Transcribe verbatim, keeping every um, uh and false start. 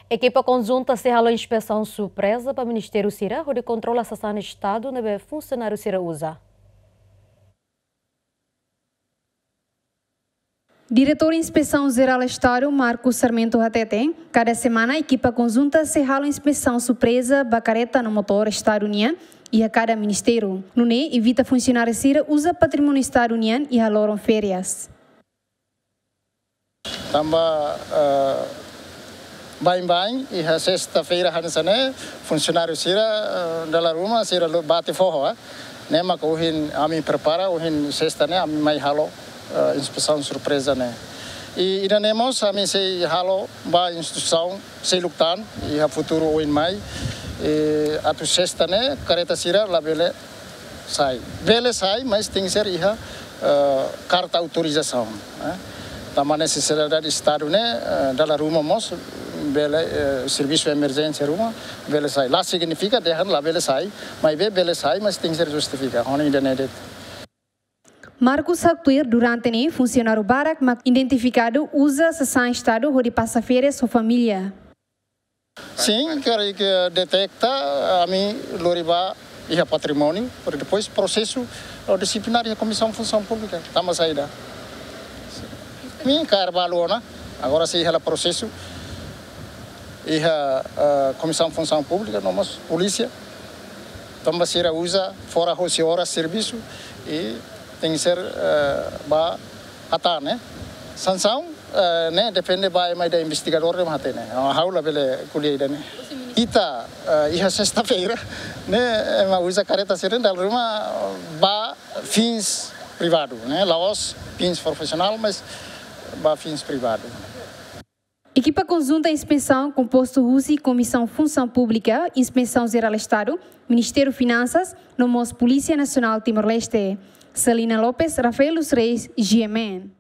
Ekipa konjunta sei halo inspesaun surpreza ba ministériu sira hodi kontrola sasán Estadu ne'ebé funsionáriu sira uza. Diretór Inspesaun Jerál Estadu, Marcos Sarmento hateten, kada semana ekipa konjunta sei halo inspesaun surpreza ba kareta no motór Estadu nian iha kada ministériu. Nune'e evita funsionáriu sira uza patrimóniu Estadu nian iha loron férias. Tanba, eh, baibain, iha sesta-feira hanesan ne'e, funsionáriu sira, eh, dala ruma sira lo bate foho, eh. Ne'e maka ohin ami prepara, ohin sesta ne'e ami mai halo, eh, inspesaun surpreza ne'e. I ida-ne'e mós ami sei halo ba instituisaun seluk tan, iha futuru oin mai, eh, atu sesta ne'e kareta sira labele sai. Bele sai, mas tenke ser iha, eh, karta autorizasaun, eh. Tanba nesesidade Estadu ne'e, eh, dala ruma mós bele, eh, servisu emerjénsia ruma bele sai. La signifika dehan labele sai, maibé bele sai, mas tenke ser justifika. Ho ida-ne'e de'it. Marcos haktuir durante ne'e funsionáriu barak mak identifikadu uza sasán Estadu hodi pasa férias ho família. Sin, karik detekta, ami lori ba iha patrimóniu, para depois prosesu, eh, disiplinár iha Komisaun Funsaun Públika, tanba saida. Ami kaer balu ona, agora sei iha la prosesu, iha, eh, Komisaun Funsaun Públika, no mós polísia, tanba sira uza fora hosi oras servisu, i tenke ser, eh, ba hatán, eh. Sansaun, eh, ne'e depende ba ema ida investigadór de'it mak hatene. Ha'u labele ko'alia ida-ne'e. Ita, eh, iha sesta-feira, ne'e ema uza kareta sira dala ruma ba fins privadu, ne'e. La'ós fins profisionál, mas ba fins privadu. Ekipa konjunta inspesaun kompostu husi Komisaun Funsaun Públika, Inspesaun Jerál Estadu, Ministériu Finansas, no mós Polísia Nasionál Timor-Leste. Celina Lopes, Rafael dos Reis, G M N.